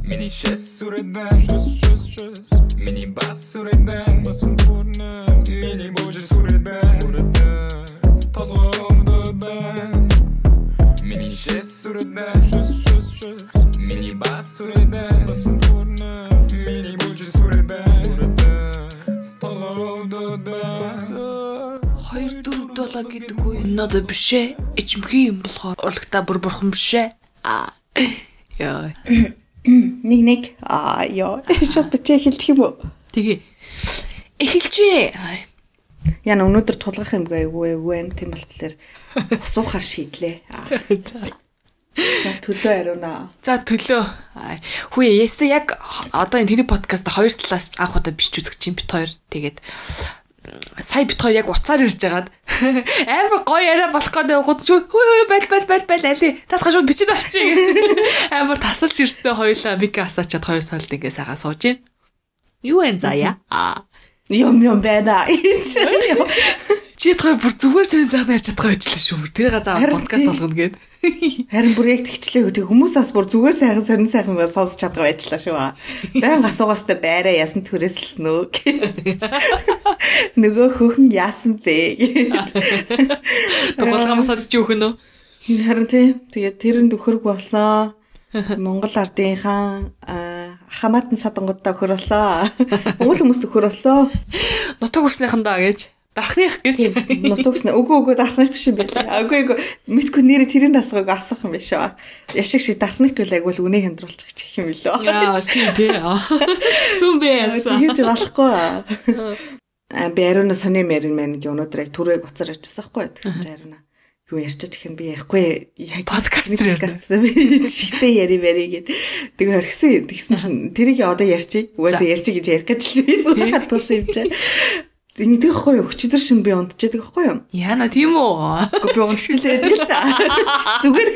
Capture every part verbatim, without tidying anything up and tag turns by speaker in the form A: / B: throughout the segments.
A: Миний шэс сүрэдэн шэс шэс шэс Миний бас сүрэдэн басан бүрнэ Миний божи сүрэдэн бүрэдэн Толгоомдодэн Миний шэс сүрэдэн шэс шэс шэс Миний бас сүрэдэн басан бүрнэ Миний божи сүрэдэн бүрэдэн Толгоомдодэн
B: хоёр дөрөв долоо гэдэг үе надад бишээ. Ичмхий юм болохоор урлагта бүр бурхан бишээ. Аа. Яа.
C: Нэг нэг аа ёо. Шот бичээ хэлчих юм уу?
B: Тэгээ. Эхэлжээ.
C: Яна өнөөдөр тулгах юм гээгүй вэ? Тийм болтлоор усуухаар шийдлээ. За төлөө ариуна.
B: За төлөө. Хүү ястаа яг одоо энэ тэний подкаст хоёр талаас анх удаа бич үзэх чинь бит хоёр. Тэгээд сая бит хоёр яг уцаар ирж байгаад амар гоё яриа болох гэдэг гот хөө хөө бал бал бал бал али татхаа шууд бичиж авчиг. Амар тасалж ирстэй хоёлаа мик асаачаад хоёр талд ингээ сайхан сууж гин. Юу энэ заяа? Аа.
C: Юм юм байна.
B: Чи тэр бүр зүгээр сэн сайхан ярьж чадах байжлаа шүү. Тэр газаа подкаст болгоно гээд.
C: Харин проект хичлээ тэг хүмүүсээс бүр зүгээр сайхан сонин сайхан ба сонсож чадах байжлаа шүү. Баян асуугаастай байраа ясан түрээсэлсэн үү? Нөгөө хөхн яасан бэ?
B: Тоглоомоос ч юу хөнөө?
C: Харин тий. Тэгээд тэрэнд өхөрг болсон. Монгол ардынхаа хамаатан садангуудаа өхөр боллоо. Монгол хүмүүст өхөр боллоо.
B: Нутаг хүрснийхэндаа гэж. Дарахных гэж.
C: Нутаг хүрснэ. Үгүй үгүй дарахных биш юм байна. Үгүй үгүй. Мэдгүй нэрээ тэрийн дасгыг асах юм биш үү? Яшиг шиг дарахных гэвэл агвал үнэ хямдруулчих гэх юм билүү.
B: Яа, тийм тий. Зүн бэ яасан.
C: Тэгэж болохгүй. А би ариуна сони мэрэн мэн гэ өнөөдөр яг түрэг уцаар ярьчихсан байхгүй тэгсэн чинь ариуна юу ярьчих тэгэхээр би ярихгүй яг
B: подкаст
C: подкаст шигтэй яри бари гэд тэгээ орхисон тэгсэн чинь тэрийг одоо ярьчих угаасаа ярьчих гэж ярих гэж л би бүр хатсан юм чинь нэг тэгэхгүй юу өчигдөр шин би унтчихдаг байхгүй юу
B: яана тийм үү
C: би унтчихлээ тэгэл та зүгээр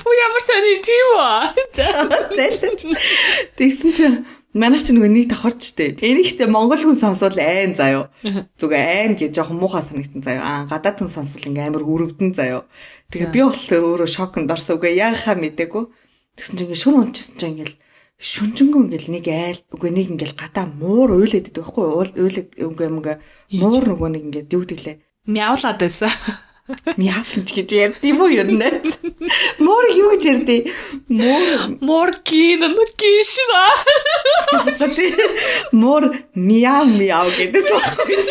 B: уу ямар сони тийм үү
C: тэгсэн чинь манай ч нөгөө нэг давхарч штэ. Энийхтэй монгол хүн сонсвол айн заяо. Зүгээр айн гэж жоохон муухай санагдсан заяо. Аа гадаад хүн сонсвол ингээм амар өрөвдөн заяо. Тэгээ би болохоор өөрөө шоконд орсон. Үгүй яахаа мэдээгүй. Тэгсэн чинь ингээ шүн унчихсан чинь ингээл шүнжэнгөө ингээл нэг айл үгүй нэг ингээл гадаа муур уйлээд байдаг байхгүй юу? Уйлаг үгүй юм ингээ муур нөгөө нэг ингээд юу гэдлээ.
B: Мяулаад байсан.
C: Мяфлж гэж ярьдсан юм уу ер нь? Муур юу гэж ярьдээ? Муур
B: муур кин нөкишна.
C: Муур мяу мяу гэдээс баггүй.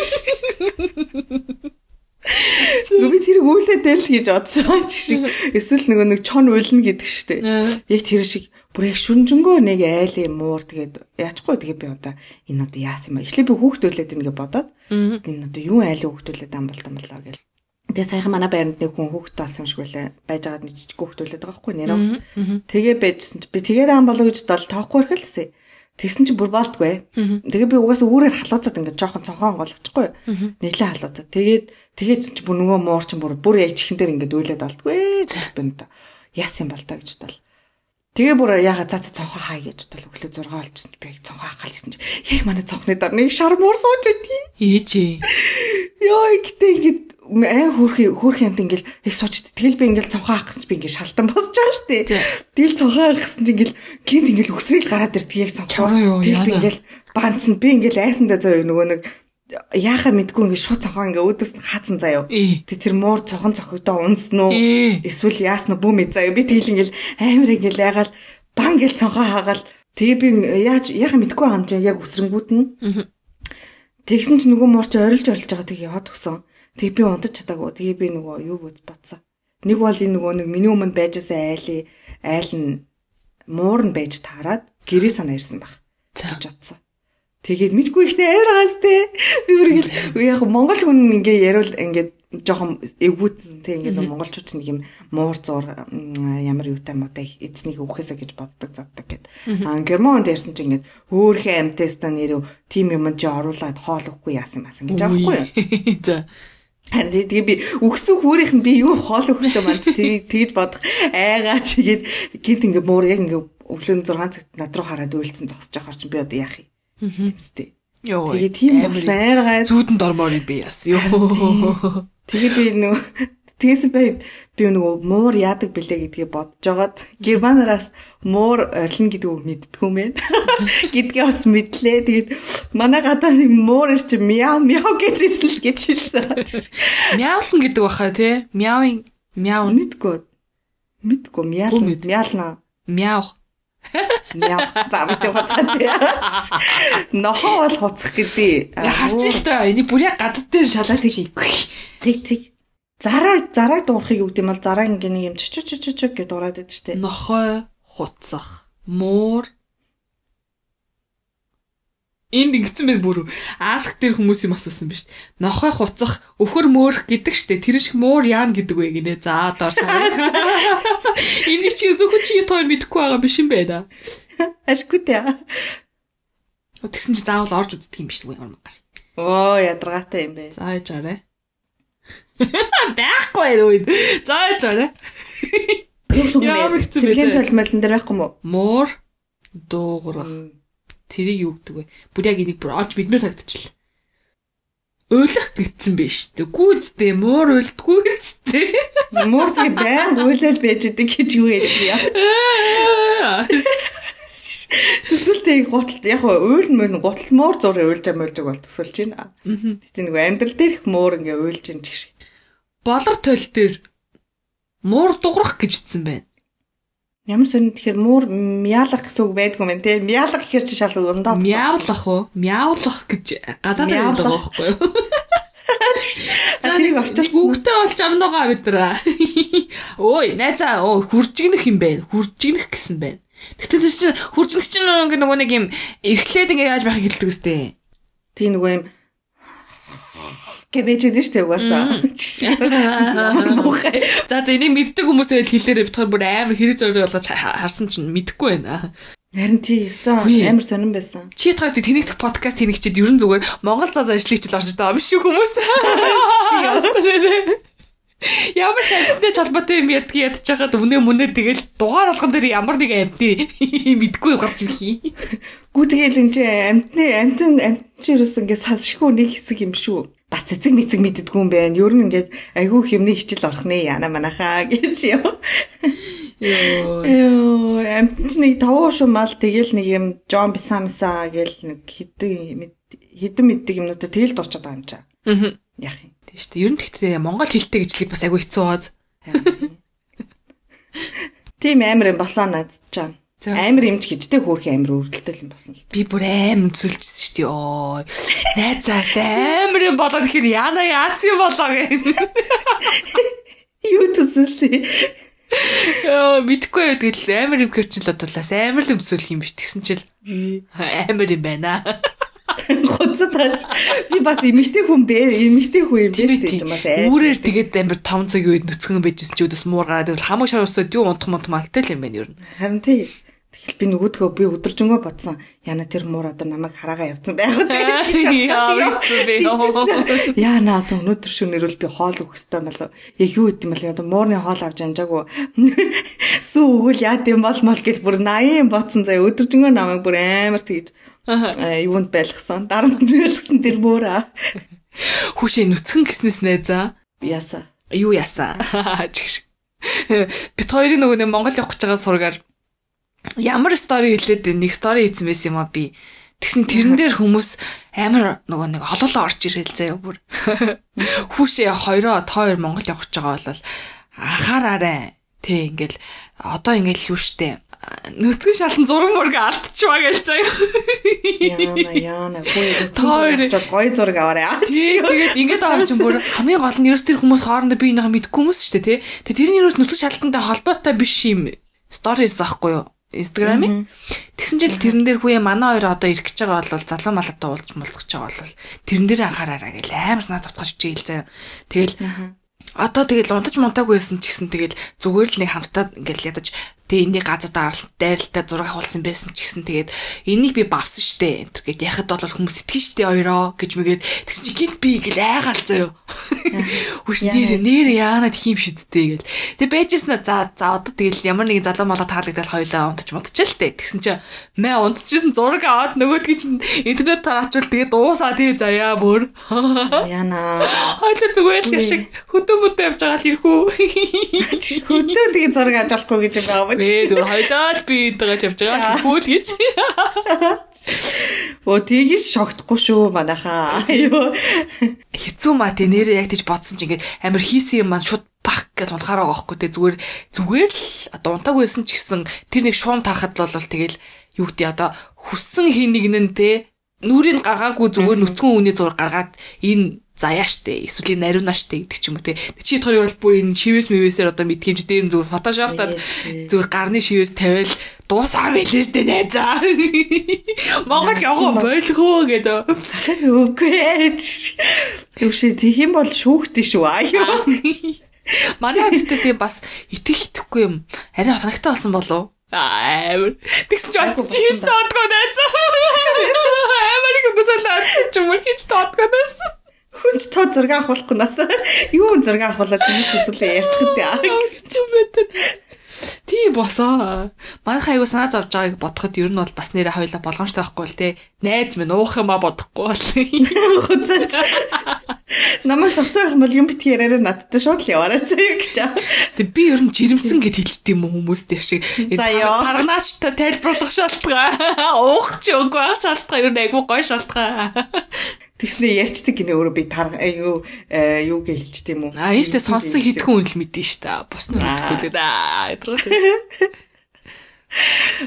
C: Нүби тэр үйлдэл гэж бодсон шиг эсвэл нөгөө нэг чон уйлна гэдэг штэ. Яг тэр шиг бүр яг шүнжэнгөө нэг айлын муур тэгээд яачгүй тэгээд би одоо энэ одоо яасан юм. Эхлээ би хүүхдүүлээд ингээ бодоод энэ одоо юу айлын хүүхдүүлээд ам болтон болоо гэл. Тэгээ саяхан манай байранд нэг хүн хүүхэд болсон юм шиг байлаа. Байж байгаад нэг жижиг хүүхдүүлээд байгаа байхгүй нэрөө. Тэгээ байжсэн чи би тэгээд ам болоо гэж дол тоохгүй ирэхэлсэн. Тэгсэн чи бүр болтгүй. Тэгээ би угаасаа үүрээр халууцаад ингээд жоохон цонхон голчихгүй. Нэлээ халууцаад. Тэгээд тэгээдсэн чи бүр нөгөө муур чин бүр бүр яг чихэн дээр ингээд уйлаад болтгүй. Би энэ яасан бол та гэж тал. Тэгээ бүр яга цаа цаа цонхоо хай гэж тал өглөө зургаа олчихсон чи би яг цонхоо хахал гэсэн чи яг манай цонхны дор нэг шар муур сууж идэв.
B: Ээжээ.
C: Йоо ихтэй ингээд аа хөөрхи хөөрхи амт ингээл их сууч. Тэгэл би ингээл цонхоо хаах гэсэн чи би ингээл шалтан босч байгаа штэ. Тэгэл цонхоо хаах гэсэн чи ингээл гинт ингээл өсрэл гараад ирдэг яг цонхоо. Тэгэл би ингээл баанцсан би ингээл айсандаа зөө нөгөө нэг яахаа мэдгүй ингээд шууд цонхоо ингээ өөдөөс нь хаацсан заяо. Тэг тэр муур цохон цохогдоо унсноо. Эсвэл яасна бүү мэд заяо. Би тэгэл ингээл амар ингээл ягаал бан гэл цонхоо хаагаал тэгээ би яаж яахаа мэдгүй байгаа юм чинь яг өсрөнгүүд нь. Тэгсэн чи нөгөө муур чи орилж орилж байгаа тэг яваад өгсөн. Тэг би унтаж чадаагүй. Тэгээ би нөгөө юу гэж бодсон. Нэг бол энэ нөгөө нэг миний өмнө байжсэн айлын айл нь муур нь байж таарад гэрээ санаа ирсэн баг. Гэж бодсон. Тэгээд мэдгүй ихтэй авиргаас те би үргэл яг монгол хүн ингээ яриул ингээ жоохон эвгүүт те ингээ монголчууд нэг юм муур зур ямар юутай муутай эзнийг өгөхөөсэй гэж боддог заддаг гэд. Аа германд ярьсан чи ингээ хөөхөн амтеста нэрв тим юм чи оруулаад хоол өгөхгүй яасан масан гэж аахгүй юу.
B: За
C: Харин тэгээ би өгсөн хүүрийнх нь би юу хоол өгөхтэй манд тэгж бодох айгаа тэгээд гинт ингээ муур яг ингээ өглөө зургаан цагт над руу хараад үйлцэн зогсож байгаа чи би одоо яах юм. Тэмцтэй.
B: Йоо.
C: Тэгээ тийм болсон айргаа
B: зүүдэнд ормоор би яасан. Йоо.
C: Тэгээ би нөө Тэгээс би би нөгөө муур яадаг бэлээ гэдгийг бодож жагаад германараас муур орилно гэдэг үг мэддэггүй юм байна. Гэдгээ бас мэдлээ. Тэгээд манай гадаа нэг муур ир чи мяу мяу гэдээсэл гэж хэлсэн.
B: Мяулна гэдэг баха тий. Мяуин мяу
C: мэдгүй. Мэдгүй мяална мяална.
B: Мяу.
C: Мяу. За мэдээ хуцаа тий. Нохоо бол хуцах гэдэг.
B: Харчих та энийг бүр яг гадд дээр шалаад хийхгүй.
C: Тэг тэг. Зараа зараа дуурахыг юу гэдэг юм бол зараа ингээ юм ч ч ч ч гэж дураад байдаг штэ.
B: Нохой хуцах, муур. Энд ингэсэн байх бүр аск дээр хүмүүс юм асуусан биз. Нохой хуцах, өхөр мөөрх гэдэг штэ. Тэр шиг муур яана гэдэг вэ гинэ. За доор шаа. Энд чи зөвхөн чи тоор мэдэхгүй байгаа биш юм байна.
C: Ашгүй тэ.
B: Тэгсэн чи заавал орж үздэг юм биш үү ямар.
C: Оо ядаргаатай юм бэ.
B: За яаж арай. Байхгүй юу? Зааж аа.
C: Ямар хэцүү бэ? Цэвлийн толмолон дээр байхгүй мó?
B: Муур дуугарах. Тэрийг юу гэдэг вэ? Бүр яг энийг бүр оож бидмээр сагдчихлаа. Уйлах гэсэн биш үү? Гүйцтэй муур уйлдгүй үстэй.
C: Муур тэг байн уйлал байж идэг гэж юу яа. Төсөлтэй гуталт яг уйл мөн гуталт муур зураг уйлж амуулж бол төсөлж байна. Тэгтээ нэг амьдрал дээрх муур ингээ уйлж ин тэгш.
B: Болор тойл дээр муур дуурах гэж ütсэн байна.
C: Ямар сонир тэгэхээр муур мяалах гэсэн үг байдгүй мэн те. Мяалах гэхэр чи шал ундаа.
B: Мяулах уу? Мяулах гэж гадаад байдаг байхгүй юу?
C: тэрийг орчуулсан.
B: Хүүхдээ болж амнаагаа бид нар. Ой, найзаа, оо хуржигнэх юм байна. Хуржигнэх гэсэн байна. Тэгтээ чи хуржигнэх чинь нөгөө нэг юм эрхлээд ингээ яаж байхыг хэлдэг үстэй.
C: Тийм нөгөө юм гэбэж дээ штэ угаасаа.
B: За за энийг мэддэг хүмүүс байл хэлээрээ бид хоёр бүр амар хэрэг зориг болгож харсан чинь мэдэхгүй байна.
C: Харин тий өстой амар сонирн байсан.
B: Чи тохиолд тэнэгдэх подкаст тэнэгчэд ерэн зүгээр Монгол цаас ажлыг ч л орж байгаа юм шиг хүмүүс. Ямар хэмнэж холбоотой юм ярьдгийг ядчихад өмнө мөнөө тэгэл дугаар болгон дээр ямар нэг амтны мэдгүй гарч ирхий.
C: Гүү тэгэл энэ чи амтны амтэн амт чи юусэн ингээ сасшгүй нэг хэсэг юм шүү. Бас цэцэг мэцэг мэддэггүй юм байна. Ер нь ингээд айгүй хэмнээ хичээл орох нэ яана манахаа гэж юм. Йоо. Йоо, амт нэг тавуу шумал тэгэл нэг юм Джон Бисамса гэл нэг хитэн хитэн мэддэг юмнуудаа тэгэл дуучаад байгаа юм чаа. Аа. Яах юм.
B: Тийм шүү дээ. Ер нь тэгтээ Монгол хэлтэй гэж хэлэх бас айгүй хэцүү бооз.
C: Тийм амар юм болоо надад чам. Амар юмч гэжтэй хөөрхөн амар өрдөлтөл юм басна л.
B: Би бүр амар зүлжсэн шүү дээ. Ой. Найзаас амар юм болоод ихээр яана яац юм болоо гэх.
C: Юу төсөлсөн.
B: Яа, мэдгүй тэгэл амар юм гэрчил бодлоос амар л өмсөх юм биш тэгсэн чил. Амар юм байна.
C: Хоцотаач би бас эмэгтэй хүн бэ эмэгтэй хүн юм биш гэж юм аа.
B: Үүрээр тэгээд амар таван цагийн үед нүцгэн байжсэн чи өдөөс муур гараад ивэл хамаг шаруусаад юу унтах мунт малтай л юм байна ер нь.
C: Харин тий. Тэгэл би нөгөөдгөө би өдөржингөө бодсон. Яна тэр муур одоо намайг хараагаа явцсан байх уу тэгээд. Яа наа одоо өнөөдөр шөнөөр л би хоол өгөх ёстой мал яг юу гэдэм бэл одоо муурны хоол авч амжаагүй сүү өгөл яа гэм бол мол гэж бүр наян бодсон заа өдөржингөө намайг бүр амар тэгж юунд байлгсан дарамт байлгсан тэр муура.
B: Хүүшээ нүцгэн гиснээс найзаа.
C: Ясаа.
B: Юу ясаа. Бид хоёрын нөгөө Монгол явах гэж байгаа сургаар ямар стори хэлээд нэг стори хийсэн байсан юм а би. Тэгсэн тэрэн дээр хүмүүс амар нөгөө нэг олоолаа орж ирэл заяа бүр. Хүүшээ хоёроо тоор Монгол явах гэж байгаа бол анхаараарай. Тэ ингээл одоо ингээл юу штэ. Нүцгэн шалан зураг мураг алдчихваа гэж заяа.
C: Яна яна гоё гоё зураг аваарай.
B: Тэгээд ингээд авч юм бүр хамгийн гол нь ерөөс тэр хүмүүс хоорондоо би энийхээ мэдгүй хүмүүс штэ тий. Тэгээд тэрний ерөөс нүцгэн шалтантай холбоотой биш юм сторис аахгүй юу? Instagram-ийн. Тэгсэн жил тэрэн дээр хүүе манай хоёр одоо ирэх гэж байгаа бол залуу малтай уулзч мулцах гэж байгаа бол тэрэн дээр анхаараарай гэл амар санаа зовтгож үжээл заяа. Тэгэл одоо тэгэл унтаж мунтаагүй байсан ч гэсэн тэгэл зүгээр л нэг хамтаа ингээл ядаж Тэгээ энийг газар дайралтай зураг авуулсан байсан ч гэсэн тэгээд энийг би бавсан штэ энэ гэд яхад бол хүмүүс итгэн штэ хоёроо гэж мэгээд тэгсэн чи гинт би гэл айгаал заяа. Хүч нэр нэр яанад хийм шидтэй гэл. Тэгээ байжсна за за одоо тэгэл ямар нэгэн залуу малга таалагдал хоёлаа унтж модчихл тээ. Тэгсэн чи мэ унтчихсэн зураг аваад нөгөөдгий чинь интернет тараачвал тэгээ дуусаа тэгээ заяа бүр.
C: Яна.
B: Хойлоо зүгээр л яшиг хөдөө мөдөө явж байгаа л ирхүү.
C: Хөдөө тэгээ зураг авч болохгүй гэж байгаа юм.
B: Ээ зүгээр хойлоо л би энтэйгээ явж байгаа хөл гэж.
C: Оо тийгээс шогтохгүй шүү манайхаа. Аюу.
B: Хэцүү маа тэ нэрээ яг тийж бодсон чи ингээд амар хийсэн юм маань шууд бах гэж унахаар байгаа байхгүй тэ зүгээр зүгээр л одоо унтаагүйсэн ч гэсэн тэр нэг шуум тарахад бол тэгэл юу гэдэг одоо хүссэн хин нэгнэн тэ нүрийг гаргаагүй зүгээр нүцгэн үний зураг гаргаад энэ заяа штэ эсвэл нариуна штэ гэдэг ч юм уу те чи тохорыг бол бүр энэ шивээс мөвөөсээр одоо мэдхимж дээр нь зүгээр фотошоптод зүгээр гарны шивээс тавиал дуусаа байлээ штэ найзаа Монгол яваа болох уу гэдэг
C: үгүй юу ши тийм юм бол шүүхтэй шүү аюу
B: манай гэхдээ тийм бас итгэх итгэхгүй юм арай ханагтай болсон болов амар тэгсэн чи очиж хийж таадгүй найзаа амар их босолаад чи мөр хийж таадгүй найзаа
C: хүнч тоо зураг авахгүй нас юу зураг авахлаад хүмүүс үзүүлээ ярьчихд яа гэсэн мэт
B: тий босоо манайхаа аягүй санаа зовж байгааг бодоход ер нь бол бас нэрэ хоёлаа болгоомжтой байхгүй л те найз минь уух юм а бодохгүй бол
C: хуцаач намайг сохтой юм бол юм бит яраараа надтай шууд л яваарай заяа гэж
B: тэг би ер нь жирэмсэн гэд хэлжтэй юм уу хүмүүс дээр шиг тарганаач тайлбарлах шалтгаан уух ч үгүй ах шалтгаан ер нь аягүй гой шалтгаан
C: тэгснэ ярьчдаг гинэ өөрөө би тарга юу юу гэж хэлжтэй юм уу
B: а ийштэй сонссон хитгэн үн л мэдэн ш та бус нь мэдгүй л да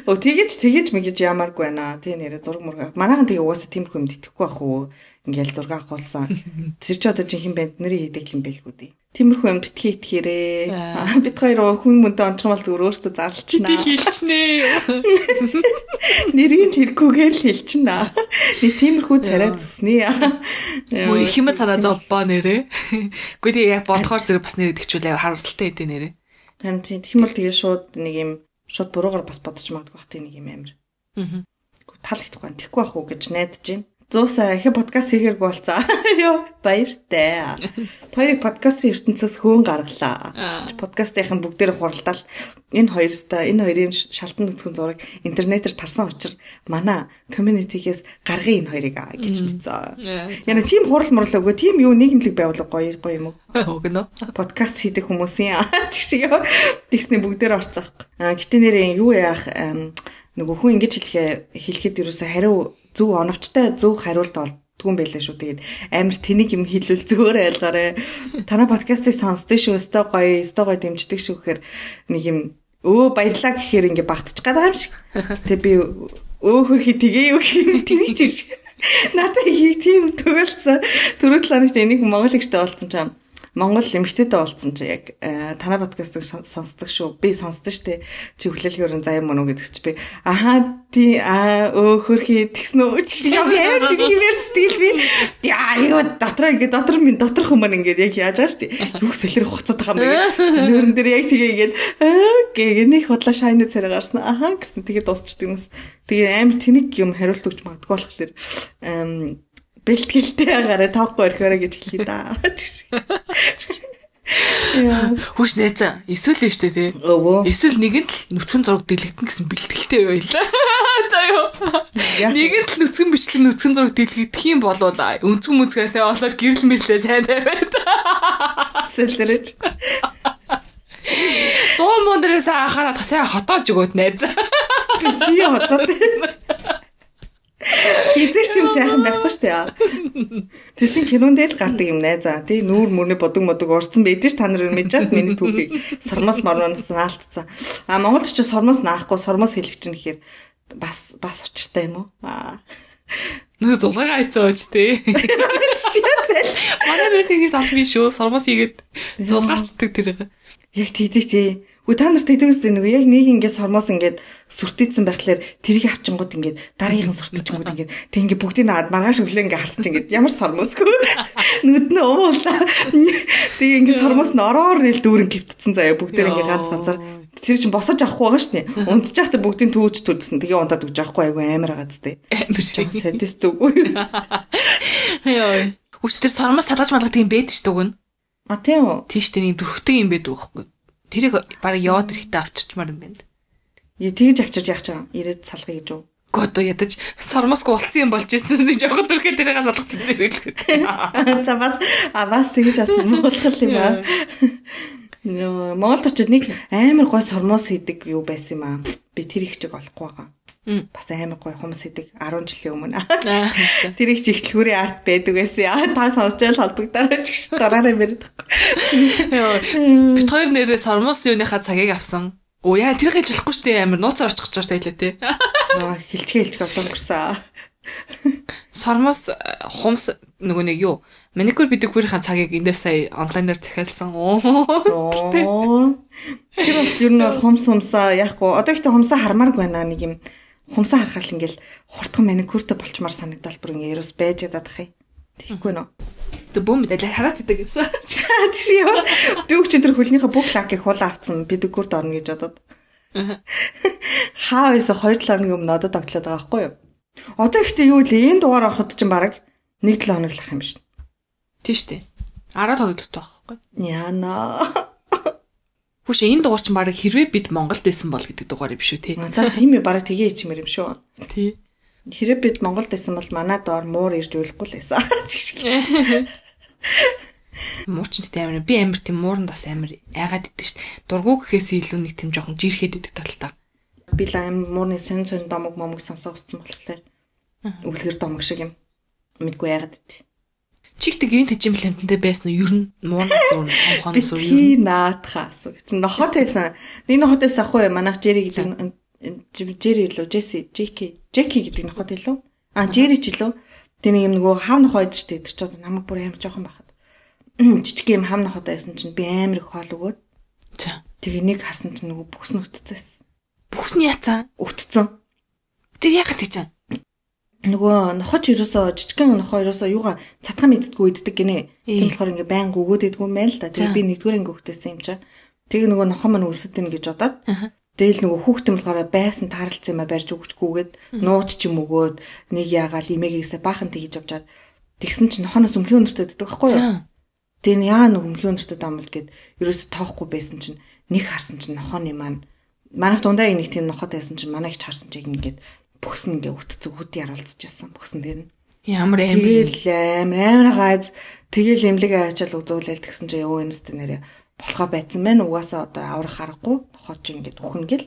C: О тэгэж тэгэж мэгэж ямааргүй байна. Тэ нэрэ зураг мурга. Манайхан тэгээ угаасаа тиймэрхүү юм итгэхгүй байх уу? Ингээл зураг авахулсан. Тэр чи одоо жинхэнэ банд нарын хийдэг юм байлгүй дээ. Тиймэрхүү юм битгий итгэхээрээ. Бид хоёр хүн мөнтэй онцгон бол зүгээр өөртөө зарлчнаа.
B: Би хэлчихнэ.
C: Нэрийг тэрхүүгээр л хэлчихнэ. Нэг тиймэрхүү царай зүснэ.
B: Мөө их юм царай зовбоо нэрэ. Гэхдээ тэгээ яг бодохоор зэрэг бас нэр итгэжүүлээ харамсалтай хэдэ нэрэ.
C: Харин тийм бол тэгээ шууд нэг юм шууд буруугаар бас бодож магадгүй бах тийм нэг юм амир. Аа. Тал ихгүй тэхгүй байх уу гэж найдаж байна. Зуусаа их подкаст хийхэргүй болцоо. Йоо баяртай. Хоёрыг подкастын ертөнцөөс хөөн гаргалаа. Подкастынхан бүгдээр хуралдаал энэ хоёрстай энэ хоёрын шалтан нүцгэн зураг интернетээр тарсан учраас манай community-гээс гаргая энэ хоёрыг гэж мэдсэн. Яна тийм хурал мурал өгөө тийм юу нийгэмлэг байгуулга гоё гоё юм уу?
B: Өгнө.
C: Подкаст хийдэг хүмүүсийн чиг шиг тэгснэ бүгдээр орцоох. А гэтээ нэрээ юу яах нөгөө хүн ингэж хэлэхэ хэлэхэд юусаа хариу зөв оновчтой зөв хариулт олдгүй юм байлаа шүү. Тэгээд амар тэнийг юм хэлвэл зөвөр айлгаарэ. Танай подкастыг сонсдөө шүү. Өстой гоё, өстой гоё дэмждэг шүү гэхээр нэг юм өө баярлаа гэхээр ингэ багтчих гадаг юм шиг. Тэг би өө хөрхи тгээ юу гэхээр тэнийг ч юм шиг. Надад их тийм төгөлцөө. Түрүү талаанаас энийг монгол ихтэй болсон ч юм. Монгол эмэгтэйтэй болсон чи яг танай подкастыг сонсдог шүү. Би сонсдог штэ. Чи хүлээлгээр заяа мөн үү гэдэгс чи би аха тий аа өө хөрхи тэгснэ үү чи яг яар тийм верстэл би яа юу дотроо ингэ дотор минь доторх хүмүүс ингэ яг яаж байгаа штэ. Юу сэлэр хуцаад байгаа юм бэ? Нүүрэн дээр яг тэгээ ингэ аа гээ нэг худлаа шайны царай гарсан. Аха гэсэн тэгээ дуусчдаг юмс. Тэгээ амар тэнэг юм хариулт өгч магадгүй болохоор эм бэлтгэлтэй агараа тоохгүй орхиороо гэж хэлхий да. Яа.
B: Хүч найзаа. Эсвэл нь штэ тий. Эсвэл нэгэн л нүцгэн зураг дэлгэгдэн гэсэн бэлтгэлтэй байлаа. За ёо. Нэгэн л нүцгэн бичлэг нүцгэн зураг дэлгэгдэх юм болвол өнцгөн мүцгээсээ олоод гэрэл мэрлээ сайн тавиад. Сэлэрэж. Доо мондэрээс анхаараа тасаа хотоож өгөөд найзаа.
C: Би сий хоцоод. Хизээч юм сайхан байхгүй штэ. Тэсийн кинон дээр л гардаг юм найзаа. Тий нүүр мөрний бодог модог урцсан байдэн ш та нар мэдчихсэн миний түүхийг сормоос марноос наалтцсан. А Монголд ч сормоос наахгүй сормоос хэлэх чинь гэхээр бас бас учиртай юм уу? Аа.
B: Нөө зулгаа айцсан ууч тий. Манай нэс ингэж албан шүү. Сормоос хийгээд зулгаарчдаг тэрэг.
C: Яг тийдэг тий. Үгүй та нарт тэгдэгс нэг яг нэг ингээд сормоос ингээд сүртээдсэн байхлаар тэрийг авчингууд ингээд дараагийн сүртээчингууд ингээд тэг ингээд бүгдийг наад маргааш өглөө ингээд харсан чинь ингээд ямар сормоосгүй нүд нь уула. Тэг ингээд сормоос нь ороор нэл дүүрэн гівтцсэн заяа бүгдээр ингээд ганц ганцаар Тэр чинь босож авахгүй байгаа шнэ. Унтж байхдаа бүгдийн төвөж төлсөн. Тэгээ унтаад өгч авахгүй айгүй амар байгаа зү.
B: Амар шиг.
C: Садист үгүй.
B: Йоо. Үс тэр сармаас салгаж малгах тийм бэд ш дүгэн.
C: А тийм үү.
B: Тийш тэр нэг дөрхтэй юм байдаг байхгүй. Тэрийг баг яваад ирэхтэй авчирчмаар юм байна.
C: Яа тэгж авчирч яах чам. Ирээд салгая гэж үү.
B: Гото ядаж сармаск болцсон юм болж ирсэн гэж явахад төрхөө тэрийг салгацсан юм гэлээ.
C: За бас а бас тэгж бас муулах юм аа. Нөө Монголд очиод нэг амар гой сормоос хийдэг юу байсан юм аа. Би тэр их чиг олохгүй байгаа. Бас амар гой хүмүүс хийдэг арван жилийн өмнө. Тэр их чиг ихтлгүүрийн арт байдаг байсан. Та сонсож байл холбогдороо ч гэж дураараа мэрдэг.
B: Бид хоёр нэрээ сормоос юуныхаа цагийг авсан. Оо яа тэр гэж болохгүй шүү дээ амар нууцаар очих гэж байгаа шүү дээ
C: Аа хилчгээ хилчгээ болон гэрсэн.
B: Сормоос хумс нөгөө нэг юу маникюр педикюрийн цагийг эндээ сая онлайнаар захиалсан. Оо.
C: Тэр бол ер нь бол хумс хумсаа яахгүй. Одоо ихтэй хумсаа хармааргүй байна нэг юм. Хумсаа харахад ингээл хурдхан маникюртэй болчмаар санагдал бүр ингээ ерөөс байж ядаад ах юм. Тэгэхгүй нөө.
B: Тэг бөөм мэдээ хараад идэг гэсэн.
C: Чи яа би өчигдөр хөлнийхээ бүх лакийг хулаа авцсан педикюрт орно гэж бодоод. Хаа вэсэ хоёр талын өмнө одоо тогтлоод байгаа байхгүй юу? Одоо ихтэй юу л энэ дугаар ороход чинь бараг нэг жил хоноглох юм биш.
B: Тийш үү. араа тоглолт байхгүй.
C: Яна.
B: Хүш энэ дугаар чинь бараг хэрвээ бид Монголд байсан бол гэдэг дугаар юм шүү тий.
C: За тийм ээ бараг тгээ ичмэр юм шүү.
B: Тий.
C: Хэрэг бид Монголд байсан бол манай доор муур ирж үйлэхгүй л байсан.
B: Муучин тэ амар би амар тийм мууранд бас амар айгаад идэг шүү дээ. Дургуу гэхээс илүү нэг тийм жоохон жирхэд идэг талтай.
C: Би л аим муурны сон сон домог момог сонсоогцсон болохоор үлгэр домог шиг юм. Мэдгүй айгаад идэв.
B: Чигт гэрийн тэжим лэмтэнтэй байсан нь ер нь муурнаас өөр хонхоноос өөр
C: би наатхаас чи нохот байсан. Нэг нохот байсан ахгүй манайх Жери гэдэг Жери лөө Джесси Джеки Джеки гэдэг нохот илүү. А Жери ч илүү. Тэр нэг юм нөгөө хав нохоо идэж штэ идэж чад намайг бүр амар жоохон байхад. Жижиг юм хав нохот байсан чинь би амар их хоол өгөөд.
B: За.
C: Тэгээ нэг харсан чинь нөгөө бүхс нь өтцөөс.
B: Бүхс нь яцсан?
C: Өтцөн.
B: Тэр яагаад гэж юм?
C: Нөгөө нохоч ерөөсөө жижигхэн нохоо ерөөсөө юугаа цатхан мэддэггүй иддэг гинэ. Тийм болохоор ингээ байн өгөөд идэггүй юм байл та. Тэгээ би нэгдүгээр ингээ хөвтэйсэн юм чаа. Тэгээ нөгөө нохоо маань өсөд ин гэж бодоод. Тэгэл нөгөө хүүхдэн болохоор байсан тааралцсан юм а барьж өгчгүйгээд нууч ч юм өгөөд нэг яагаал имээгээс баахан тэгж авчаад тэгсэн чинь нохоноос өмхөн өнөртөд иддэг байхгүй юу? Тэгээ яа нэг өмхөн өнөртөд амбал гэд ерөөсөө тоохгүй байсан чинь нэг харсан чинь нохооны маань манайх дундаа нэг тийм нохот байсан чинь манай их харсан чинь ингээд бүхс нь ингээ өтцөг хөт яруулцж ирсэн бүхсэн дээр нь
B: ямар амар
C: тэгэл амар амар гайз тэгэл эмлэг аачаал үзүүлэл тэгсэн чинь ёо энэстэй нэрэ болохоо байцсан байна угаасаа одоо аврах аргагүй нохоо чи ингээ үхэн гэл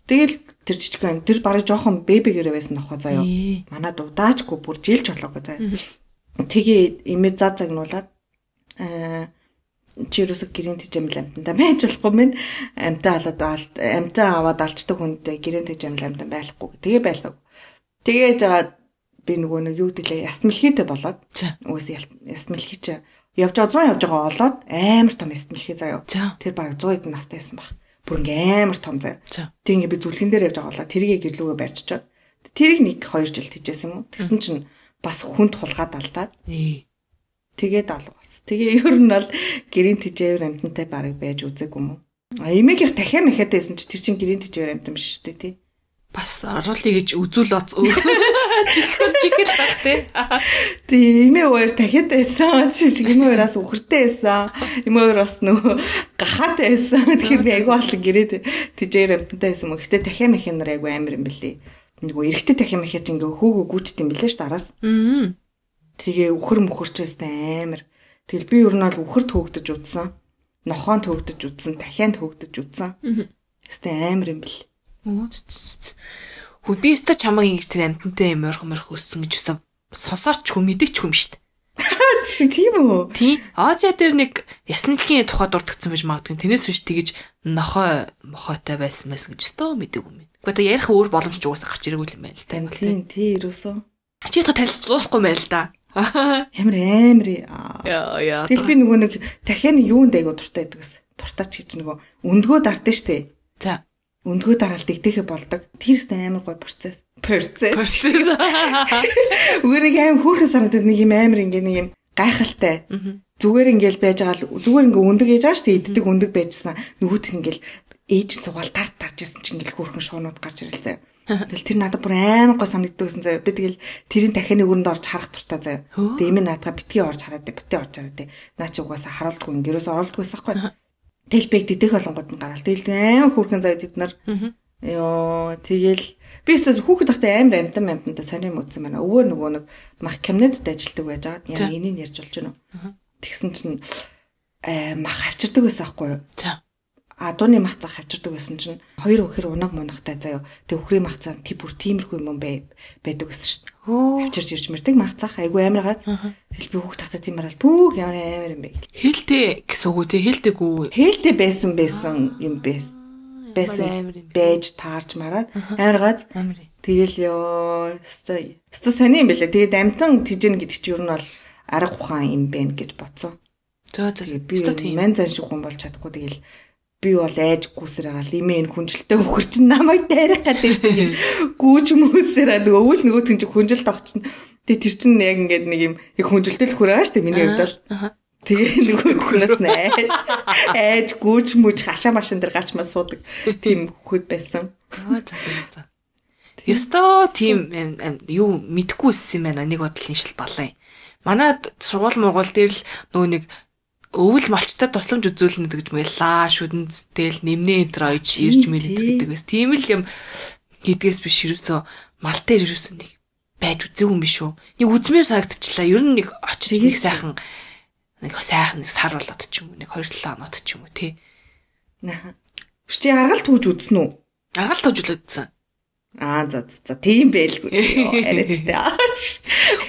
C: тэгэл тэр жижигхэн тэр барыг жоохон бэбигэрээ байсан нохоо заяа манай дудаачгүй бүр жилч болоогүй заяа тэгээ имээ заа загнуулаад аа чи юусаг гэрийн тэжээмэл амтанда байж болохгүй мэн амтаа халаад амтаа аваад алчдаг хүнтэй гэрийн тэжээмэл амтан байхгүй тэгээ байлаа. Тэгээд жагаад би нөгөө нэг юу гэлээ ясмэлхийтэй болоод үгүйс ясмэлхий чи явж байгаа зуун явж байгаа олоод амар том ясмэлхий заяа. Тэр бараг сто эдэн настайсан баг. Бүр ингээ амар том заяа. Тэг ингээ би зүлгэн дээр явж байгаа олоо тэргээ гэрлүүгээ барьчихад тэрийг нэг хоёр жил тэжээсэн юм. Тэгсэн чинь бас хүнд хулгаад алдаад тэгээд алга болсон. Тэгээ ер нь бол гэрийн тэжээвэр амтантай барыг байж үзээгүй юм уу? А эмээг их дахиад мэхэтээсэн чи тэр чин гэрийн тэжээвэр амтан биш шүү дээ тий.
B: Бас оруулъя гэж үзүүл оц чихэл чихэл баг тий.
C: Тэгээ эмээ өөр дахиад байсан. Чи шиг эмээ өөрөөс үхэртэй байсан. Эмээ өөр бас нөгөө гахаатай байсан. Тэгэхээр би айгүй болон гэрээ тэжээвэр амтантай байсан мөн. Гэтэ дахиад мэхэ нар айгүй амар юм бэлээ. Нөгөө эргэтэй дахиад мэхэ чи ингээ хөөгөө гүйчт юм бэлээ ш дараас. Аа. Тэгээ үхэр мөхөрчөөс амар. Тэгэл би ер нь бол үхэрт хөөгдөж удсан. Нохоонд хөөгдөж удсан, дахианд хөөгдөж удсан. Гэтэ амар юм бэл.
B: Хөө би өстө чамаг ингэж тэр амтантай юм ойрхон морих өссөн гэж өссөн. Сонсооч хүм мэдээч хүм штт.
C: Чи тийм үү?
B: Тий. Азия дээр нэг ясналгийн тухай дурдгдсан байж магадгүй. Тэрнээс биш тэгэж нохоо мохоотой байсан байсан гэж өстө мэдээгүй юм. Гэхдээ ярих өөр боломж ч угаасаа гарч ирээгүй юм байна л та.
C: Тийм, тий ерөөсөө.
B: Чи та танилцж дуусахгүй байл та.
C: Ямар амар
B: яа яа.
C: Тэгэл би нөгөө нэг дахиад юунд айгу дуртай байдагс. Дуртач гэж нөгөө өндгөө дартаа штэ.
B: За.
C: Өндгөө дараал дэгдэхэ болдог. Тэрстэй амар гой процесс. Процесс.
B: Процесс.
C: Үгээр нэг аим хөөрхөн санагдаад нэг юм амар ингээ нэг юм гайхалтай. Зүгээр ингээл байж байгаа л зүгээр ингээ өндөг ээж байгаа штэ иддэг өндөг байжсан. Нөгөөт нь ингээл ээж цугаал тарт тарж исэн чинь ингээл хөөрхөн шуунууд гарч ирэл заяа. Тэгэл тэр надад бүр амар гоо санагддаг гэсэн заяа. Би тэгэл тэрийн дахианы өрөнд орж харах туртаа заяа. Тэгээ эмээ наадгаа битгий орж хараад битгий орж хараад наа чи угаасаа харуулдаггүй ингэрээс оролдоггүй байхгүй. Тэгэл бэг дидэх болгонгод нь гараал. Тэгэл амар хөөрхөн заяа тэд нар. Йоо тэгэл би өөртөө хүүхэд тахтай амар амтан амтантай сонирм үтсэн байна. Өвөө нөгөө нэг мах кабинетд ажилладаг байж байгаа. Яа энийг ярьж болж байна уу? Тэгсэн чинь э мах авчирдаг байсан байхгүй юу? За. Адууны мах цаа авчирдаг байсан чинь хоёр өхөр унаг мунагтай заяа. Тэг өхрийн мах цаа тий бүр тиймэрхүү юм бай байдаг гэсэн шүү дээ. Авчирж ирж мэрдэг мах цаа айгу амар гац. Тэгэл би хүүхэд тахтай тийм марал бүгд ямар амар юм бэ. Хэлтэй гэсэн үг тий хэлтэйгүү. Хэлтэй байсан байсан юм байсан. Байсан байж таарч мараад амар гац. Тэгэл ёо өстой өстой сони юм бэлээ. Тэгээд амтан тийжэн гэдэг чинь юу нь бол арга ухаан юм бэ гэж бодсон. Зөө зөө би мэн зан шиг хүн болж чадахгүй тэгэл би бол айж гүсэр байгаа лимэн хүнжилтэй хөхөр чинь намайг дайрах гэдэг шүү дээ. Гүүч хүмүүсээрээ нөгөө өвөл нөгөөтгөн чинь хүнжилт авах чинь тэгээ тэр чинь яг ингээд нэг юм яг хүнжилтэл хүрээ шүү дээ миний хувьд бол. Тэгээ нөгөө хүнээс найж айж гүүч мүж хашаа машин дээр гарч маа суудаг тийм хөхөд байсан.
B: Ёстой тийм юу мэдгүй үссэн юм байна. Нэг бодлын шил балаа. Манайд сургууль мургуул дээр л нөгөө нэг өвөл малчтай тусламж үзүүлнэ гэж мэл лаа шүдэнд тэл нэмнээ энэ ойж ирж мэлдэг гэдэг бас тийм л юм гэдгээс биш ерөөсөө мал дээр ерөөсөө нэг байж үзээгүй юм биш үү. Нэг үзмээр санагдчихлаа. Ер нь нэг очиж нэг сайхан нэг сайхан сар болоод ч юм уу нэг хоёр талаа оноод ч юм уу тий.
C: Наа. Чи аргалт түүж үзсэн үү?
B: Аргалт түүж үзсэн.
C: Аа за за тийм байлгүй. Яриач тээ.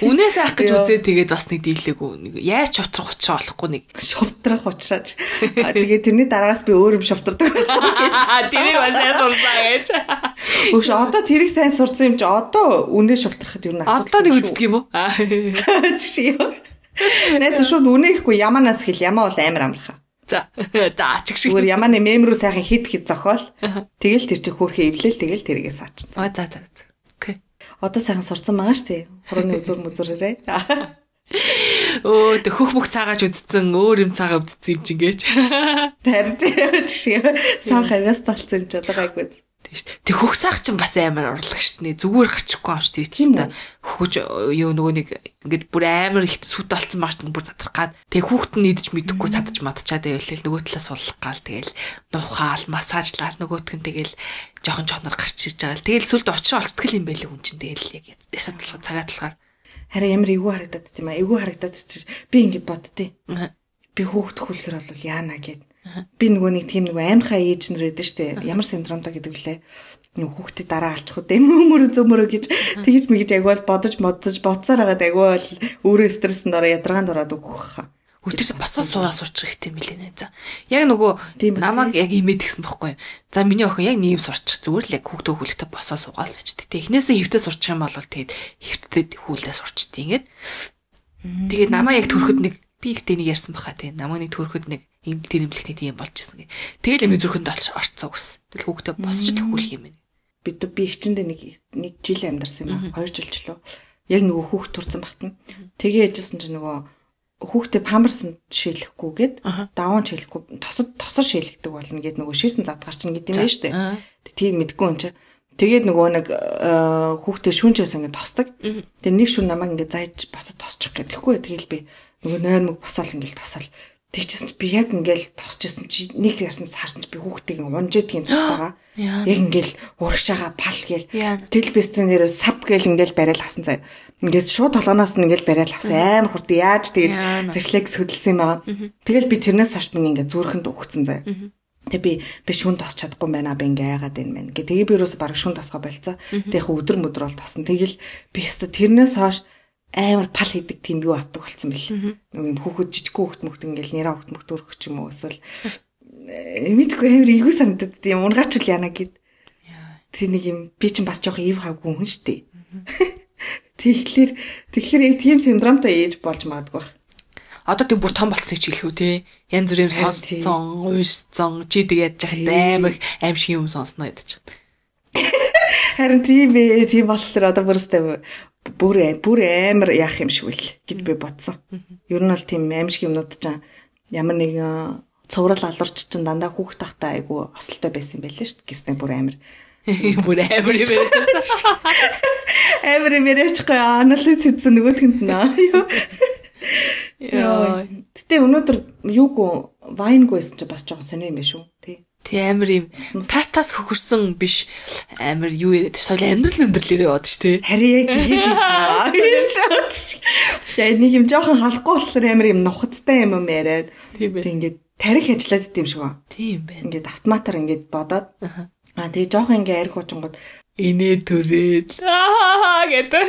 B: Үнээс авах гэж үзээ тэгээд бас нэг дийлээгүй нэг яаж шутрах учраа болохгүй нэг
C: шутрах учраач. Тэгээд тэрний дараагаас би өөр юм шутрдаг байсан гэж.
B: Тэрийг бас сайн сурсан гэж.
C: Үгүй одоо тэрийг сайн сурсан юм чи одоо үнээ шутрахад юу нэг
B: асуудал. Одоо нэг үздэг юм уу?
C: Чи юу? Нэт шууд үнэхгүй яманаас хэл ямаа бол амар амархаа.
B: За за чиг шиг.
C: Зүгээр ямааны мем рүү сайхан хит хит зохиол. Тэгэл тэр чих хөөрхөө эвлээл тэгэл тэрийгээ саачсан.
B: Аа за за. Окей.
C: Одоо сайхан сурсан байгаа шүү дээ. Хурууны үзүр мүзүрээрээ.
B: Оо тэг хөх мөх цаагааж үдцэн өөр юм цаагаа үдцсэн юм чинь гэж.
C: Тэр тийм шиг. Сан хавьяас талцсан юм ч одоо гайгүй.
B: Тийм шүү. Тэг хөх саах чинь бас амар урлаг шүү дээ. Зүгээр гарчихгүй юм шүү дээ чи та. Хөхөж юу нөгөө нэг ингээд бүр амар их сүт болцсон маш бүр задрах гад. Тэг хүүхэд нь идэж мэдэхгүй цадаж мадчаад байвал нөгөө талаас суллах гал тэгэл нухаал массажлал нөгөөтгөн тэгэл жоохон жоохнор гарч ирж байгаа. Тэгэл сүлд очроо олцдог юм байлээ хүн чинь тэгэл яг ясад талаар цагаат талаар.
C: Харин ямар эвгүй харагдаад тийм аа. Эвгүй харагдаад чи би ингээд боддتي. Би хүүхэд хөлөхөр бол яана гэд. Би нөгөө нэг тийм нөгөө аимхаа ээж нар байдаг штэ. Ямар синдромтой гэдэг вүлээ. Нөгөө хүүхдээ дараа алчих уу дэм өмөр зөмөрөө гэж тэгж мэгж агвал бодож модож боцоор хагаад агвал өөрөө стресэнд ороо ядаргаанд ороод өгөх хаа.
B: Өдөр босоо суугаа сурчих хэрэгтэй мэлээ нэ за. Яг нөгөө намайг яг имэд гисэн бохгүй. За миний охин яг нэм сурчих зүгээр л яг хүүхдээ хөлөхтэй босоо суугаал гэж. Тэ эхнээсээ хөвтөө сурчих юм бол тэгээд хөвтөд хүүлээ сурчтий ингээд. Тэгээд намаа яг төрөхөд нэг би ихтэй нэг ярьсан баха тий. Намаа нэг төрөхөд нэг энэ тэр имлэгтэй тийм болчихсон гэ. Тэгэл юм зүрхэнд орцсон үгс. Тэгэл хүүхдээ босч төхүүлэх юм байна.
C: Бид би их чиндээ нэг нэг жил амьдарсан юм аа. Хоёр жил ч лөө. Яг нөгөө хүүхд турсан багтана. Тэгээ яжсэн чинь нөгөө хүүхдээ памперсанд шийлэхгүйгээд даван шийлэхгүй тосод тосор шийлэгдэг болно гэд нөгөө ширсэн задгаар чинь гэдэг юм байна шүү дээ. Тийм мэдгүй юм чи. Тэгээд нөгөө нэг хүүхдээ шүүнчээс ингэ тосдог. Тэгээ нэг шүүн намайг ингэ зайж босоод тосчих гэдэг. Тэгэхгүй тэгэл би нөгөө нойрмог босоол ингэ тосол. Тэгчихсэн би яг ингээл тосчихсан чи нэг ясна саарсан чи би хүүхдийг унжээдгийн цутаага. Яг ингээл урагшаага пал гээл телебистэн нэрээ сав гээл ингээл барайл хасан заяа. Ингээд шууд толгоноос нь ингээл барайл авсан амар хурд яаж тэгээд рефлекс хөдөлсөн юм байгаа. Тэгэл би тэрнээс хойш би ингээд зүрхэнд өгцөн заяа. Тэгээ би би шүн тосч чадахгүй байна би ингээ яагаад юм бэ. Ингээ тэгээ би юусоо бараг шүн тосгоо болцоо. Тэгээ өдөр мөдөр бол тосно. Тэгэл би өстө тэрнээс хойш амар пал хийдэг тийм юу авдаг болсон бэл. Нэг юм хүүхэд жижиг хүүхэд мөхт ингээл нэраа хүүхэд мөхт өрөх ч юм уу эсвэл мэдгүй амар эйгүү санагдаад тийм унгаач үл яана гэд. Тэг нэг юм би чинь бас жоохон ив хавгүй хүн шүү дээ. Тэгэхээр тэгэхээр яг тийм синдромтой ээж болж магадгүй бах.
B: Одоо тэг бүр том болцсон ч хэлэх үү те. Янз бүрийн сонсцсон, уйшсан, чи тэгээд жахтай амар аимшиг юм сонсноо ядчих.
C: Харин тийм ээ, тийм болохоор одоо бүрстэй бүр бүр амар яах юм шиг үл гэж би бодсон. Ер нь бол тийм аимшиг юмнууд ч ямар нэг цуврал алуурч чинь дандаа хүүхд тахтай айгу осолтой байсан юм байлээ шүү дээ. Гиснэ бүр амир.
B: Бүр амир юм байсан.
C: Амир юм яриачгүй анализ хийсэн нөгөөтгөнд наа. Яа. Гэтэ өнөөдөр юуг вайнгүйсэн чи бас жоохон сони юм биш үү? Тий.
B: Тий амир юм. Тас тас хөхөрсөн биш амир юу яриад ш. Соёл амьдрал амьдрал яриад ш тий.
C: Харин яг тэгээд яа нэг юм жоохон халахгүй болохоор амир юм нухацтай юм юм яриад.
B: Тийм
C: ээ. Ингээд тарих ажиллаад идэм шиг ба.
B: Тийм байна.
C: Ингээд автоматар ингээд бодоод. Аа тэгээ жоохон ингээ арх хуучингууд
B: инээ төрээд аа гэдэг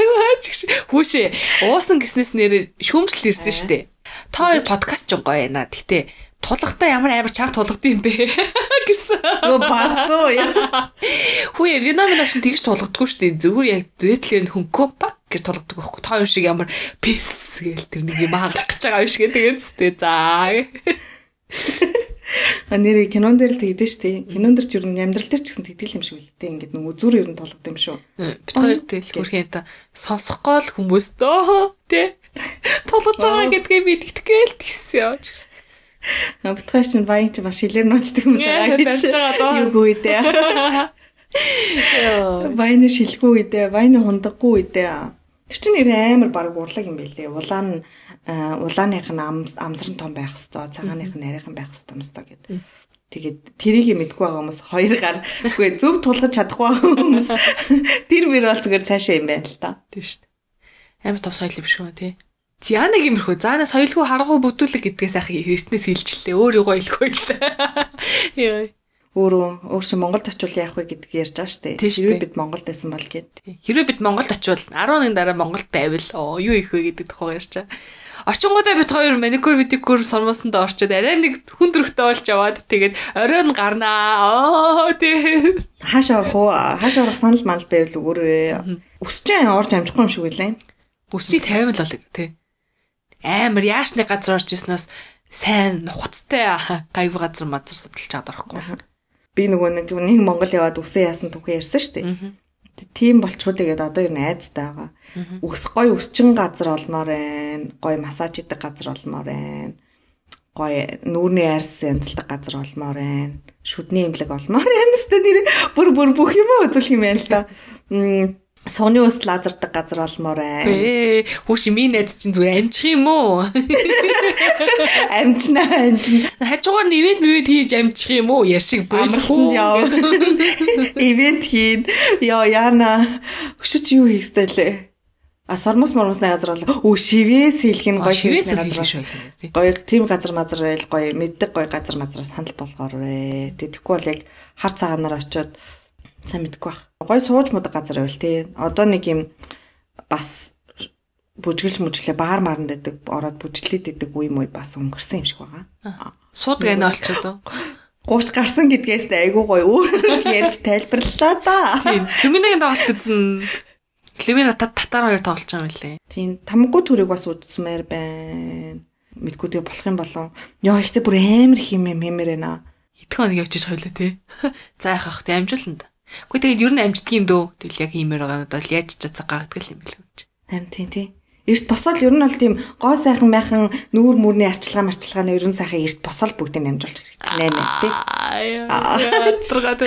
B: хүүшээ уусан гиснээс нэр шүүмжлэл ирсэн штэ. Та хоёр подкаст ч гоё яана. Гэтэ тулгатай ямар амар чаг тулгад юм бэ гэсэн.
C: Юу басуу яа.
B: Хүүе Вьетнамын ашин тэгж тулгадгүй штэ. Зүгээр яг зэтлэр хөнгөө пак гэж тулгадаг байхгүй. Та хоёр шиг ямар пис гээл тэр нэг юм хаалгах гэж байгаа юм шиг тэгээд зү. За.
C: А нэр кинон дээр л тэгдэж штэ. Кинон дээр ч ер нь амьдрал дээр ч гэсэн тэгдэл юм шиг үлдээ. Ингээд нөгөө зүр ер нь толгод юм шүү.
B: Бид хоёр тэл хөрхийн та сонсохгүй л хүмүүс дөө тий. Толгож байгаа гэдгээ мэдтгэл тэгсэн яа.
C: А бид хоёр чинь баян чи бас шилээр нуучдаг хүмүүс байгаа гэж байгаа дөө. Юу үедээ. Яа. Баяны шилгүй үедээ, баяны хундаггүй үедээ. Тэр чинь нэр амар баг урлаг юм байлээ. Улаан улааных нь амсран том байх хэвээр, цагааных нь нарийнхан байх хэвээр гэдэг. Тэгээд тэрийг мэдгүй байгаа хүмүүс хоёр гар үгүй зөв тулгаж чадахгүй хүмүүс тэр мөр бол зүгээр цаашаа юм байна л та.
B: Тийм шүү дээ. Амар том соёл юм шүү тий. Зянаг юмрхүү. Заана соёлгүй харгуу бүдүүлэг гэдгээс ах эртнээс илчлээ. Өөр юугаа илгүй л. Яа.
C: Өөрөө өөр чи Монголд очивол яах вэ гэдгийг ярьж байгаа шүү дээ. Хэрвээ бид Монголд байсан бол гэд.
B: Хэрвээ бид Монголд очивол арван оны дараа Монголд байвал оо юу их вэ гэдэг тухай ярьж байгаа. Очингуудаа бид хоёр маникюр видикюр сормосонд орчод арай нэг хүн төрхтэй болж яваад тэгээд оройн гарнаа. Оо тий.
C: Хаашаа орох уу? Хаашаа орох санал мал байвал өгөөрэй. Өсчэн орж амжихгүй юм шиг үлээ.
B: Өсийг тавиал л тий. Амар яашны газар орж ирснээс сайн нухацтай гайв газар мазар судалж чад орохгүй.
C: Би нөгөө нэг нэг Монгол яваад үсээ яасан түүхээ ярьсан шүү дээ. Тийм болчихвол тэгээд одоо юу найзтай байгаа. Үс гой өсчин газар олмоор байна. Гой массаж хийдэг газар олмоор байна. Гой нүүрний арьс янзлдаг газар олмоор байна. Шүдний имлэг олмоор байна. Тэстэ нэр бүр бүр бүх юм үзүүлэх юм байна л да. Сууны ус лазердаг газар олмоор байна.
B: Бэ хүүш минь найз чинь зүгээр амжих юм уу?
C: Амжна амжна.
B: Хажуугаар нь ивент мөвөд хийж амжих юм уу? Яршиг болох уу?
C: Ивент хийн. Яа яана. Өшөж юу хийхтэй лээ. А сормос мормосны газар бол өө шивээс хийх нь гоё
B: шивээс хийх шүү дээ.
C: Гоё тийм газар мазар байл гоё мэддэг гоё газар мазраас санал болгоор ээ. Тэгэхгүй бол яг хар цагаанаар очиод сайн мэдгүй бах. Гой сууж мудаг газар байл тий. Одоо нэг юм бас бүжгэлж мүжглээ баар маранд дэдэг ороод бүжглээд дэдэг үе мөй бас өнгөрсөн юм шиг байгаа.
B: Сууд гэнэ олчод.
C: Гууш гарсан гэдгээс айгүй гоё өөр ярьж тайлбарлалаа да.
B: Тийм. Климинагийн тоглолт үзэн Климина татар хоёр тоглож байгаа юм лээ.
C: Тийм. Тамггүй төрийг бас үзсмээр байна. Мэдгүй тэгээ болох юм болов. Яа ихтэй бүр амар хим юм хэмээр байна.
B: Хэдхэн хоног явчих хойлоо тий. За яхах тий амжуулна да. Гэхдээ тэгээд ер нь амждаг юм дөө. Тэгэл яг хиймээр байгаа юм бол яаж ч цацаг гаргадаг юм бэл үү.
C: Харин тийм тий. Эрт босоод ер нь бол тийм гоо сайхан байхан нүүр мөрний арчилгаа марчилгааны ер нь сайхан эрт босоод бүгдийг амжуулж хэрэгтэй. наймаа тий.
B: Аа тургаад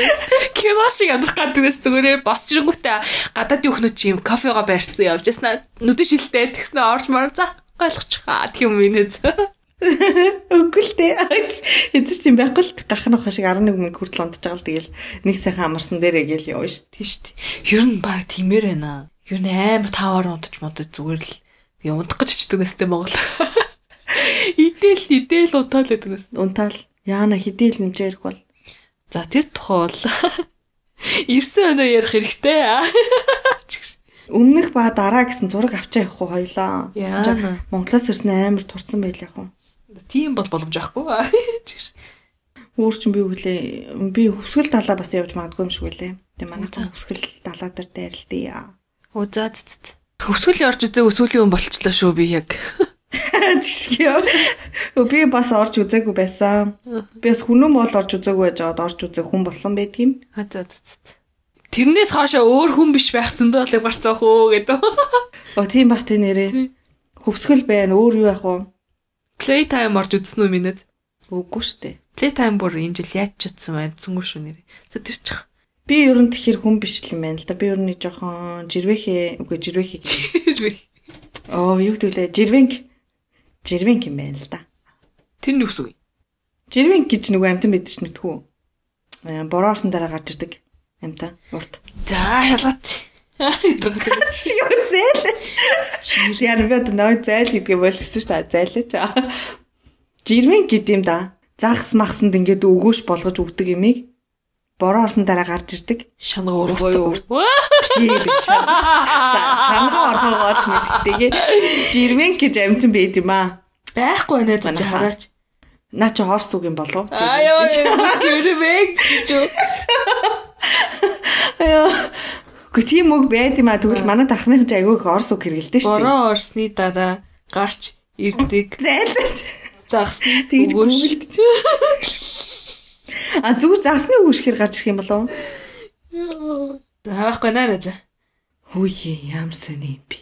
B: кино шиг амдрах гадагнаас зүгээр босч ирэнгүүтээ гадаадын өхнөд чи юм кофега барьцсан явж яснаа нүдэн шилтэй тэгснэ орж мар за ойлгочихаа гэх юм инээд. Өгөлтэй эцэс тийм байхгүй л гахнах шиг арван нэг мөнгө хүртэл унтж байгаа л тэгэл нэг сайхан амарсан дээрээ гээл явна шүү дээ шүү дээ. Ер нь баг тиймэр байна. Ер нь амар таваар унтж модод зүгээр л би унтах гэж очдөг нэстэй Монгол. Идэл идэл унтаал гэдэг нэс. Унтаал. Яана хидэл нэмж ярих бол. За тэр тухай бол ирсэн өнөө ярих хэрэгтэй. Өмнөх ба дараа гэсэн зураг авчаа явах уу хоёлаа. Монголоос ирсэн амар турцсан байл яг уу. Тийм бол боломж байхгүй. Өөр чинь би өглөө би хөвсгөл далаа бас явж магадгүй юм шиг үлээ. Тэгээ манайхан хөвсгөл далаа дээр дайрлтыг. Оо за за. Хөвсгөл орж үзээ өсвөлийн хүн болчлоо шүү би яг. Жишгийо. Би бас орж үзээгүй байсан. Би бас хүнэн бол орж үзээгүй байж аваад орж үзээ хүн болсон байдаг юм. А за за. Тэрнээс хаашаа өөр хүн биш байх зөндөө болыг барцаах уу гэдэг. Оо тийм бах тий нэрээ. Хөвсгөл байна өөр юу яах вэ? Playtime орж үзсэн үү минэд?
C: Үгүй штэ.
B: Playtime бүр энэ жил яаж чадсан амцсангүй шүү нэр. За тэр чих.
C: Би ер нь тэгэхээр хүн биш л юм байна л да. Би ер нь жоохон жирвэхээ үгүй жирвэхээ.
B: Жирвэх.
C: Оо юу гэдүүлээ жирвэнг. Жирвэнг юм байна л да.
B: Тэр нь юу вэ?
C: Жирвэнг гэж нөгөө амтан мэдэрч мэдхүү. Аа бороосон дараа гарч ирдэг амтан урт.
B: За ялгат.
C: Юу зайлаач. Яа би одоо нөө зайл гэдгээ болчихсон шүү дээ. Зайлаач. Жирвэнг гэдэг юм да. Загс махсанд ингээд өгөөш болгож өгдөг юмыг бороо орсон дараа гарч ирдэг.
B: Шанга ургоо юу?
C: Чи биш. За шанга оргоогоод мэддэгтэй. Жирвэнг гэж амтан байд юм аа.
B: Байхгүй нэ гэж хараач.
C: Наа чи хорс үг юм болов?
B: Аа яа жирвэнг гэж.
C: Аяа. Гэхдээ тийм үг байд юм аа. Тэгвэл манай дархных айгүй их орс үг хэрэгэлдэж шүү дээ.
B: Бороо орсны дараа гарч ирдэг.
C: Зайлаач.
B: Загсны
C: тэгж гүгэлдэж. А зүгээр загсны үг шихэр гарч ирэх юм болов?
B: Таахгүй наа за.
C: Хөөе ямар сони юм би.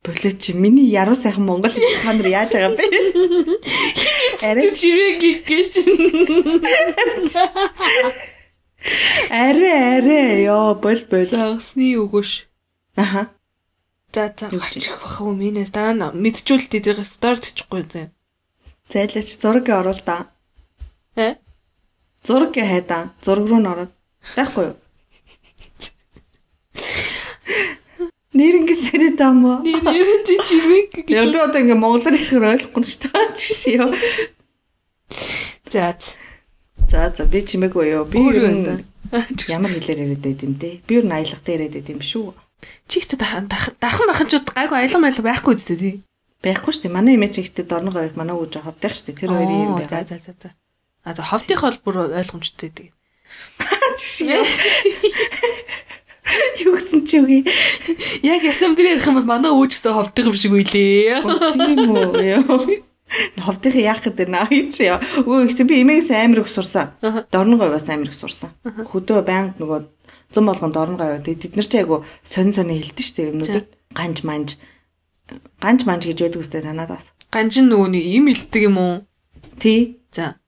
C: Болоо чи миний яруу сайхан монгол хэл та нар яаж байгаа бэ? Арай
B: жирвэг гэж.
C: Арай арай ёо бол бол.
B: Загсны үгүш.
C: Аха.
B: За за гарчих бах уу минээс дараа мэдчихвэл дээрээс дордчихгүй зэ.
C: Зайлаач зураг оруул да.
B: Э?
C: Зураг хайда. Зураг руу н ороод. Байхгүй юу? Нэрнгэс сэрэд амаа.
B: Нэрэн тий жирвэг гэж.
C: Яг би одоо ингээ монголоор хэлэхээр ойлгохгүй шүү дээ. Жишээ ёо.
B: За.
C: За за би чимээгүй юу. Би ямар хэлээр яриад байд юм те. Би юу аялгатай яриад байд юм шүү.
B: Чигт дахан дахан маханчууд гайгүй аялга майл байхгүй үстэй тий.
C: Байхгүй шүү дээ. Манай эмээч ихтэй дорно говьд манай ууж ховдох шүү дээ. Тэр хоёрын юм байгаа.
B: За за за. А за ховдих бол бүр ойлгомжтой дээ.
C: Жишээ. Юу гэсэн чи үгүй.
B: Яг ясам дээр ярих юм бол манай ууж гэсэн ховдох юм шиг үйлээ.
C: Тийм үү. Ховдох яах гэдэг наа чи яа. Өө ихтэй би эмээгээс амар их сурсан. Дорно говьас амар их сурсан. Хөдөө байнг нөгөө зам болгонд дорно говь. Тэд нар ч айгу сонь сонь хэлдэг шүү дээ юмнуудыг. Ганж манж ганж манж гэж байдаг үстэй танаад бас.
B: Ганж нөгөө нэг юм илтдэг юм уу?
C: Тий.
B: За.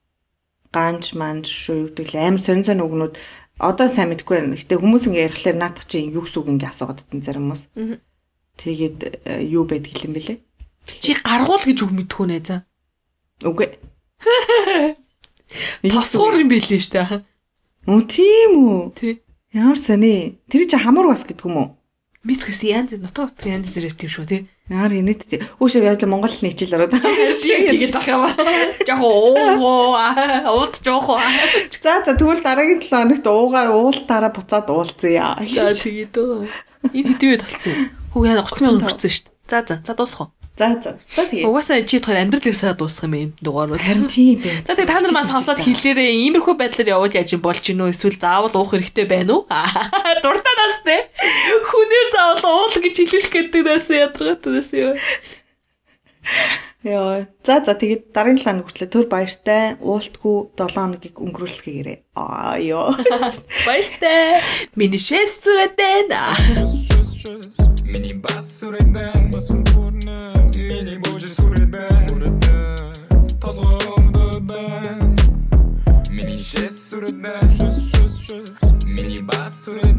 C: Ганж манж шүү гэдэг амар сонь сонь үгнүүд одоо сайн мэдэхгүй байна. Гэтэ хүмүүс ингээ ярихлаар наадах чи юу гэсэн үг ингээ асуугаад байсан зарим хүмүүс. Тэгээд юу байдаг юм бэлээ?
B: Чи гаргуул гэж үг мэдхүү нэ за.
C: Үгүй.
B: Тосгоор юм бэлээ штэ.
C: Үу тийм үү?
B: Тий.
C: Ямар сони. Тэр чи хамар бас гэдэг юм уу?
B: Мэдхүйс янз нутаг нутаг янз зэрэг тийм шүү тий.
C: Яар инээд тий. Өөшөө яа монгол хэлний хичээл ороод.
B: Тэгээд байх юм аа. Жохоо оо ууд жохоо.
C: За за тэгвэл дараагийн долоо хоногт уугаар уултаараа буцаад уулзъя.
B: За тэгээд өө. Энэ хэдий үед болсон юм. Хүү яа тридцать минут өнгөрсөн шүү дээ. За за за дуусах уу?
C: За за. За тэгээд.
B: Угаасаа чи тохиол амьдрал ирсээр дуусах юм юм дугаар бол.
C: Харин тийм бэ.
B: За тэгээд та нар маань сонсоод хэлээрээ иймэрхүү байдлаар яваад яаж юм болж гинөө эсвэл заавал уух хэрэгтэй байна уу? Дуртанаас те. Хүнээр заавал уул гэж хэлэх гэдэг нас ядаргатаас юу. Яа.
C: За за тэгээд дараагийн талаа хүртлээ төр баяртай уултгүй долоо хоногийг өнгөрүүлсгээрээ. Аа ёо.
B: Баяртай. Миний шэс зүрэдэн.
A: Миний бас сүрэдэн басан бүрнэ. Миний боже сүрэдэн. Толгомдодэн. Миний шэс сүрэдэн. Миний бас сүрэдэн.